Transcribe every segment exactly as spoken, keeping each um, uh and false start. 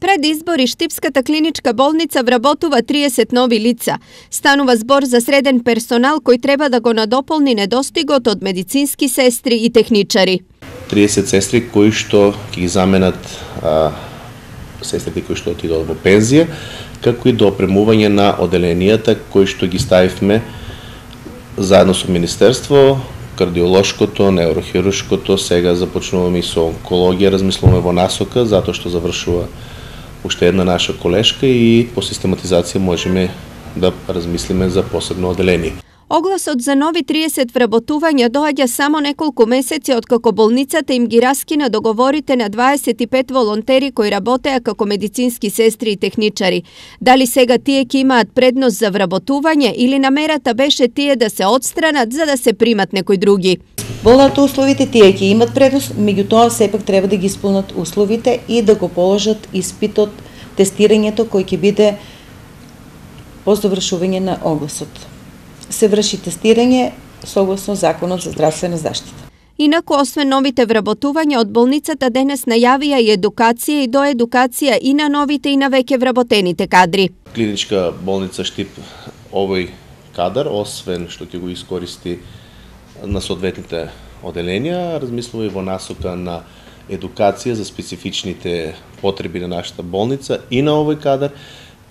Пред избори Штипската клиничка болница вработува триесет нови лица. Станува збор за среден персонал кој треба да го надополни недостигот од медицински сестри и техничари. триесет сестри кои што ќе ги заменат а, сестрите кои што отидоа во пензија, како и до опремување на оделенијата кои што ги ставивме заедно со Министерство, кардиолошкото, неурохируршкото, сега започнуваме и со онкологија, размислуваме во насока, затоа што завршува уште една наша колешка и по систематизација можеме да размислиме за посебно оделение. Огласот за нови триесет вработувања доаѓа само неколку месеци откако болницата им ги раскина договорите на дваесет и пет волонтери кои работеа како медицински сестри и техничари. Дали сега тие ќе имаат предност за вработување или намерата беше тие да се отстранат за да се примат некои други? Волат условите тие ќе имат предност, меѓутоа сепак треба да ги исполнат условите и да го положат испитот, тестирањето кој ќе биде по завршување на огласот. Се врши тестирање согласно Законот за здравствена заштита. Инаку, освен новите вработувања, од болницата денес најавија и едукација и доедукација и на новите и на веќе вработените кадри. Клиничка болница Штип овој кадар, освен што ќе го искористи на соодветните оделенија, размислува и во насока на едукација за специфичните потреби на нашата болница и на овој кадар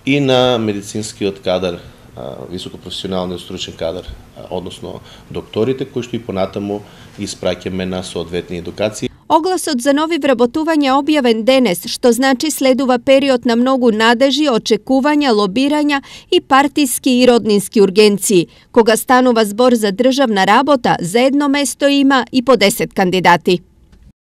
и на медицинскиот кадар, високопрофесионалниот стручен кадар, односно докторите кои што и понатаму испраќаме на соодветни едукации. Огласот за нови вработувања објавен денес, што значи следува период на многу надежи, очекувања, лобирања и партиски и роднински ургенции. Кога станува збор за државна работа, за едно место има и по десет кандидати.